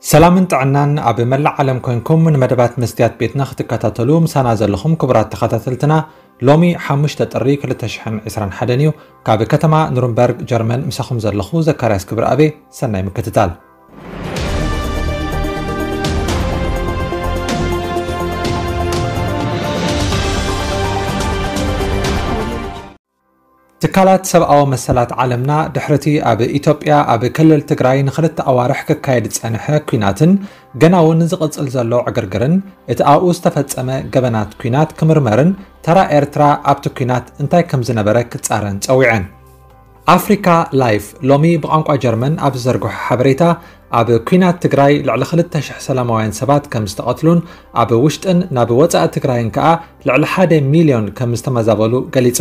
ሰላምን ጥዕናን ኣብ መላእ ዓለም ኮይንኩም ንመደባት መስትያት ቤትና ክትከታተሉ ምሳና ዘለኹም ክቡራት ተኸታተልትና፣ ሎሚ ሓሙሽተ ጥሪ ክልተ ሽሕን ዕስራን ሓደን እዩ። ካብ ከተማ ኑርንበርግ ጀርመን ምሳኹም ዘለኹ ዘካርያስ ክብረኣቤ። ሰናይ ምክትታል። ትካላት ሰብኣዊ መሰላት ዓለምና ድሕርቲ ኣብ ኢትዮጵያ ኣብ ክልል ትግራይ ንኽልተ ኣዋርሕ ክካየድ ዝጸንሐ ኲናትን ገና እውን ዝቕጽል ዘሎ ዕግርግርን እቲ ኣብኡ ዝተፈጸመ ገበናት ኲናት ክምርመርን ተራ ኤርትራ ኣብቲ ኲናት እንታይ ከም ዝነበረ ክጻረን ጸዊዐን። ኣፍሪካ ላይፍ ሎሚ ብቋንቋ ጀርመን ኣብ ዝዘርግሖ ሓበሬታ ኣብ ኲናት ትግራይ ልዕሊ ክልተ ሽሕ ሰላማውያን ሰባት ከም ዝተቐትሉን ኣብ ውሽጥን ናብ ወጻኢ ትግራይን ከኣ ልዕሊ ሓደ ሚልዮን ከም ዝተመዛበሉ ገሊጹ።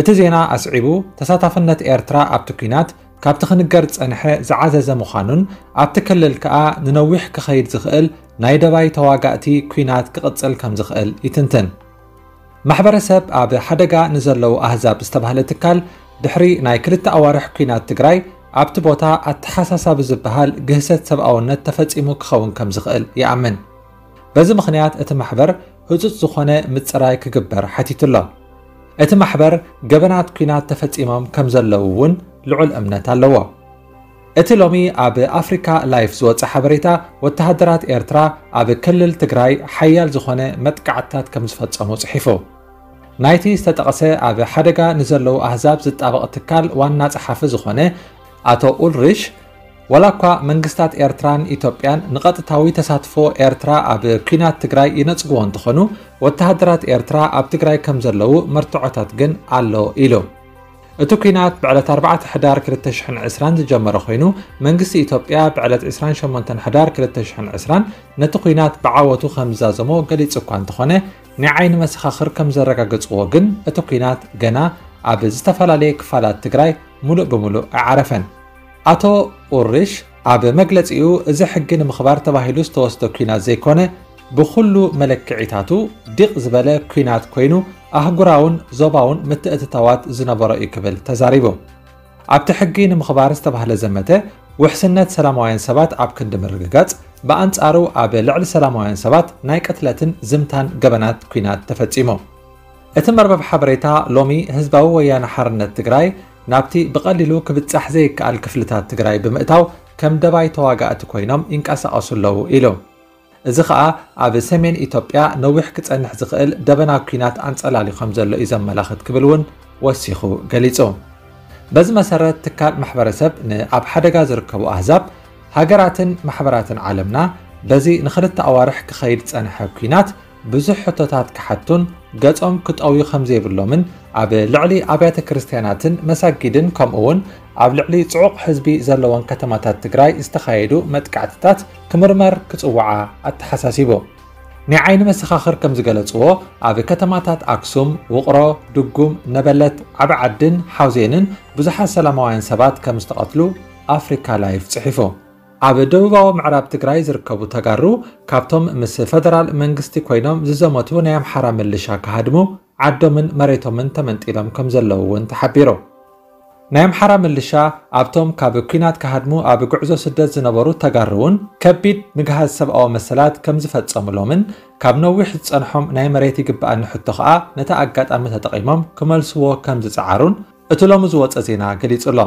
እቲ ዜና ኣስዒቡ፣ ተሳታፍነት ኤርትራ ኣብቲ ኲናት ካብቲ ክንገር ዝጸንሐ ዝዓዘዘ ምዃኑን ኣብቲ ክልል ከኣ ንነዊሕ ክኸይድ ዝኽእል ናይ ደባይ ተዋጋእቲ ኲናት ክቕጽል ከም ዝኽእል ይትንትን። ማሕበረሰብ ኣብ ሓደጋ ንዘለዉ ኣህዛብ ዝተባህለ ትካል ድሕሪ ናይ ክልተ ኣዋርሕ ኲናት ትግራይ ኣብቲ ቦታ ኣተሓሳሳቢ ዝበሃል ግህሰት ሰብኣውነት ተፈጺሙ ክኸውን ከም ዝኽእል ይኣምን። በዚ ምኽንያት እቲ ማሕበር ህጹጽ ዝኾነ ምጽራይ ክግበር ሓቲቱ ኣሎ። እቲ ማሕበር ገበናት ኲናት ተፈጺሞም ከም ዘለዉ እውን ልዑል እምነት ኣለዎ። እቲ ሎሚ ኣብ ኣፍሪካ ላይፍ ዝወጸ ሓበሬታ፣ ወተሃደራት ኤርትራ ኣብ ክልል ትግራይ ሓያል ዝኾነ መጥቃዕትታት ከም ዝፈጸሙ ጽሒፉ። ናይቲ ዝተጠቕሰ ኣብ ሓደጋ ንዘለዉ ኣህዛብ ዝጣበቕ ትካል ዋና ጸሓፊ ዝኾነ ኣቶ ኡልሪሽ፣ ዋላ እኳ መንግስታት ኤርትራን ኢትዮጵያን ንቐጥታዊ ተሳትፎ ኤርትራ ኣብ ኲናት ትግራይ ይነጽግዎ እንተኾኑ፣ ወተሃደራት ኤርትራ ኣብ ትግራይ ከም ዘለዉ መርትዖታት ግን ኣሎ ኢሉ። እቲ ኲናት ብዕለት ኣርባዕተ ሕዳር ክልተ ሽሕን ዕስራን ዝጀመረ ኮይኑ፣ መንግስቲ ኢትዮጵያ ብዕለት ዕስራን ሸሞንተን ሕዳር ክልተ ሽሕን ዕስራን ነቲ ኲናት ብዓወቱ ከም ዝዛዘሞ ገሊጹ እኳ እንተኾነ፣ ናይ ዓይኒ መሰኻኽር ከም ዘረጋገጽዎ ግን እቲ ኲናት ገና ኣብ ዝተፈላለየ ክፋላት ትግራይ ሙሉእ ብሙሉእ ኣይዓረፈን። ኣቶ ኡልሪሽ ኣብ መግለጺኡ፣ እዚ ሕጊ ንምኽባር ተባሂሉ ዝተወስደ ኲናት ዘይኮነ፣ ብኹሉ መለክዒታቱ ዲቕ ዝበለ ኲናት ኮይኑ፣ ኣህጉራውን ዞባውን ምትእትታዋት ዝነበሮ እዩ ክብል ተዛሪቡ። ኣብቲ ሕጊ ንምኽባር ዝተባህለ ዘመተ፣ ውሕስነት ሰላማውያን ሰባት ኣብ ክንዲ ምርግጋጽ፣ ብኣንጻሩ ኣብ ልዕሊ ሰላማውያን ሰባት ናይ ቅትለትን ዝምታን ገበናት ኲናት ተፈጺሙ። እቲ መርበብ ሓበሬታ ሎሚ ህዝባዊ ወያነ ሓርነት ትግራይ ናብቲ ብቐሊሉ ክብጻሕ ዘይከኣል ክፍልታት ትግራይ ብምእታው ከም ደባይ ተዋጋእቲ ኮይኖም ይንቀሳቐሱ ኣለዉ ኢሉ። እዚ ኸኣ ኣብ ሰሜን ኢትዮጵያ ነዊሕ ክጸንሕ ዝኽእል ደበና ኲናት ኣንጸላልዩ ከም ዘሎ እዩ ዘመላኽት ክብል እውን ወሲኹ ገሊጹ። በዚ መሰረት ትካል ማሕበረሰብ ንኣብ ሓደጋ ዝርከቡ ኣህዛብ፣ ሃገራትን ማሕበራትን ዓለምና በዚ ንኽልተ ኣዋርሕ ክኸይድ ዝጸንሐ ኲናት ብዙሕ ሕቶታት ክሓቱን ገጾም ክጠውዩ ከም ዘይብሎምን ኣብ ልዕሊ ኣብያተ ክርስትያናትን መሳጊድን ከምኡ እውን ኣብ ልዕሊ ጽዑቕ ህዝቢ ዘለወን ከተማታት ትግራይ ዝተኻየዱ መጥቃዕትታት ክምርመር ክጽውዓ ኣተሓሳሲቡ። ናይ ዓይኒ መሰኻኽር ከም ዝገለጽዎ፣ ኣብ ከተማታት ኣክሱም፣ ውቕሮ፣ ድጉም፣ ነበለት፣ ዓቢ ዓድን ሓውዜንን ብዙሓት ሰላማውያን ሰባት ከም ዝተቐትሉ ኣፍሪካ ላይፍ ጽሒፉ። ኣብ ደቡባዊ ምዕራብ ትግራይ ዝርከቡ ተጋሩ ካብቶም ምስ ፈደራል መንግስቲ ኮይኖም ዝዘመቱ ናይ ኣምሓራ ምልሻ ክሃድሙ ዓዶምን መሬቶምን ተመንጢሎም ከም ዘለዉ እውን ተሓቢሩ። ናይ ኣምሓራ ምልሻ ኣብቶም ካብ ኲናት ክሃድሙ ኣብ ጉዕዞ ስደት ዝነበሩ ተጋሩ እውን ከቢድ ምግሃስ ሰብኣዊ መሰላት ከም ዝፈጸሙሎምን ካብ ነዊሕ ዝጸንሖም ናይ መሬት ይግብኣኒ ሕቶ ኸኣ ነቲ ኣጋጣሚ ተጠቒሞም ክመልስዎ ከም ዝጸዓሩን እቲ ሎሚ ዝወጸ ዜና ገሊጹ ኣሎ።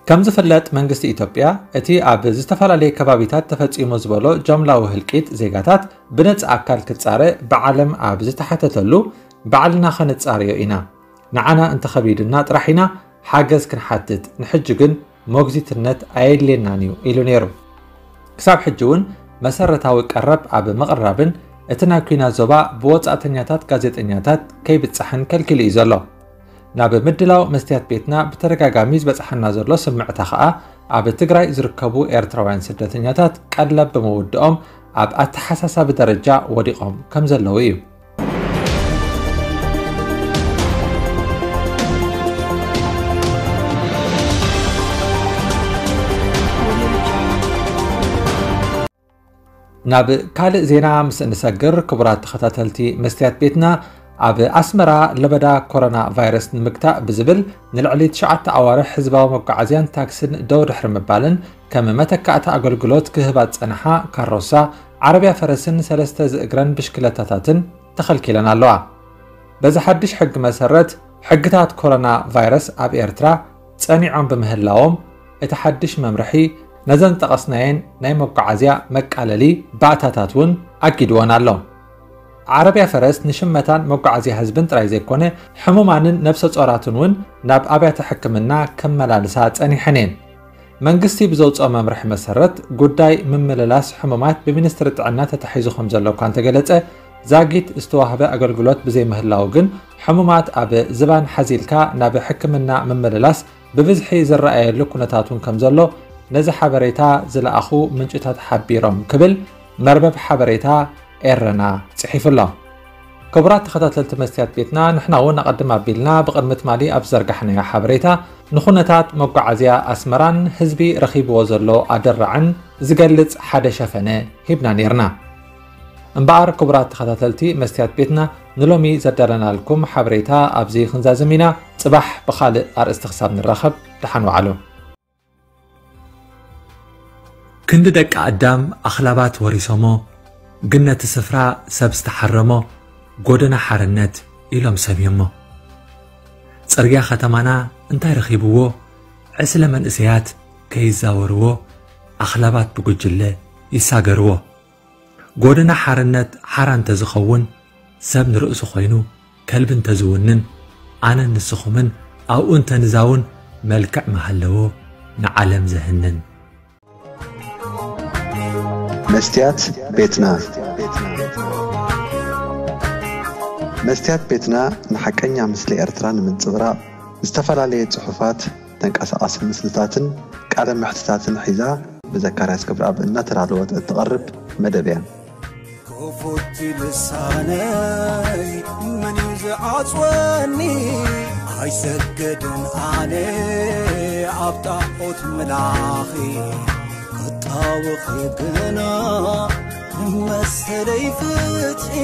ከም ዝፍለጥ መንግስቲ ኢትዮጵያ እቲ ኣብ ዝተፈላለየ ከባቢታት ተፈጺሙ ዝበሎ ጀምላዊ ህልቂት ዜጋታት ብነጻ ኣካል ክጻረ ብዓለም ኣብ ዝተሓተተሉ ባዕልና ኸነጻርዮ ኢና። ንዓና እንተኸቢዱና ጥራሕ ኢና ሓገዝ ክንሓትት፣ ንሕጂ ግን ሞግዚትነት ኣየድልየናን እዩ ኢሉ ነይሩ። ክሳብ ሕጂ እውን መሰረታዊ ቀረብ ኣብ ምቕራብን እቲ ናይ ኲናት ዞባ ብወጻእተኛታት ጋዜጠኛታት ከይብጻሕን ከልኪሉ እዩ ዘሎ። ናብ ምድላው መስትያት ቤትና ብተደጋጋሚ ዝበጽሓና ዘሎ ስምዕታ ኸኣ ኣብ ትግራይ ዝርከቡ ኤርትራውያን ስደተኛታት ቀለብ ብምውድኦም ኣብ ኣተሓሳሳቢ ደረጃ ወዲቖም ከም ዘለዉ እዩ። ናብ ካልእ ዜና ምስ እንሰግር ክቡራት ተኸታተልቲ መስትያት ቤትና፣ ኣብ ኣስመራ ለበዳ ኮሮና ቫይረስ ንምግታእ ብዝብል ንልዕሊ ትሽዓተ ኣዋርሕ ህዝባዊ መጓዓዝያን ታክስን ደው ድሕሪ ምባልን ከም መተካእታ ኣገልግሎት ክህባ ዝጸንሓ ካሮሳ፣ ዓረብያ ፈረስን ሰለስተ ዝእግረን ብሽክለታታትን ተኸልኪለን ኣለዋ። በዚ ሓድሽ ሕጊ መሰረት፣ ሕግታት ኮሮና ቫይረስ ኣብ ኤርትራ ጸኒዖም ብምህላዎም፣ እቲ ሓድሽ መምርሒ ነዘን ዝጠቐስናየን ናይ መጓዓዝያ መቃለሊ ባእታታት እውን ኣጊድወን ኣሎ። ዓረብያ ፈረስ ንሽመታን መጓዓዝያ ህዝብን ጥራይ ዘይኮነ፣ ሕሙማንን ነብሰ ጾራትን እውን ናብ ኣብያተ ሕክምና ከመላልሳ ጸኒሐን እየን። መንግስቲ ብዘውፅኦ መምርሒ መሰረት፣ ጉዳይ ምምልላስ ሕሙማት ብሚኒስትሪ ጥዕና ተታሒዙ ከም ዘሎ እኳ እንተገለጸ፣ ዛጊት ዝተዋህበ ኣገልግሎት ብዘይምህላው ግን፣ ሕሙማት ኣብ ዝባን ሓዚልካ ናብ ሕክምና ምምልላስ ብብዝሒ ዝረኣየሉ ኩነታት እውን ከም ዘሎ ነዚ ሓበሬታ ዝለኣኹ ምንጭታት ሓቢሮም ክብል መርበብ ሓበሬታ ኤረና ጽሒፉ ኣሎ። ክቡራት ተኸታተልቲ መስትያት ቤትና፣ ንሕና እውን ኣቐድም ኣቢልና ብቕድሚ ትማሊ ኣብ ዝዘርጋሕናዮ ሓበሬታ፣ ንኹነታት መጓዓዝያ ኣስመራን ህዝቢ ረኺብዎ ዘሎ ኣደራዕን ዝገልጽ ሓደ ሸፈነ ሂብና ኔርና። እምበኣር፣ ክቡራት ተኸታተልቲ መስትያት ቤትና፣ ንሎሚ ዘዳለናልኩም ሓበሬታ ኣብዚ ክንዛዝም ኢና። ጽባሕ ብኻልእ ኣርእስቲ ክሳብ ንራኸብ፣ ደሓን ወዓሉ። ክንዲ ደቂ ኣዳም ኣኽላባት ወሪሶሞ፣ ግን ነቲ ስፍራ ሰብ ዝተሓረሞ፣ ጎደና ሓርነት ኢሎም ሰምዮሞ። ጽርግያ ከተማና እንታይ ረኺብዎ? ዕስለ መንእሰያት ከይዛወርዎ፣ ኣኽላባት ብጉጅለ ይሳገርዎ። ጎደና ሓርነት ሓራ እንተዝኸውን፣ ሰብ ንርእሱ ኮይኑ ከልቢ እንተዝውንን፣ ኣነን ንስኹምን ኣብኡ እንተንዛውን መልክዕ ምሃለዎ ንዓለም ዘህንን። መስትያት ቤትና። መስትያት ቤትና ንሓቀኛ ምስሊ ኤርትራ ንምንጽብራቕ፣ ዝተፈላለየ ጽሑፋት፣ ተንቀሳቓሲ ምስልታትን ቃለ መሕትታትን ሒዛ ብዘካርያስ ገብረኣብ እናተዳለወት እትቐርብ መደብ እያ። ክፉት ልሳነይ መን እዩ ዝዓጽወኒ? ኣይሰግድን ኣነ ኣብ ጣዖት ምላኺ፣ ክጣወኺ ግና መሰለይ ፍትሒ።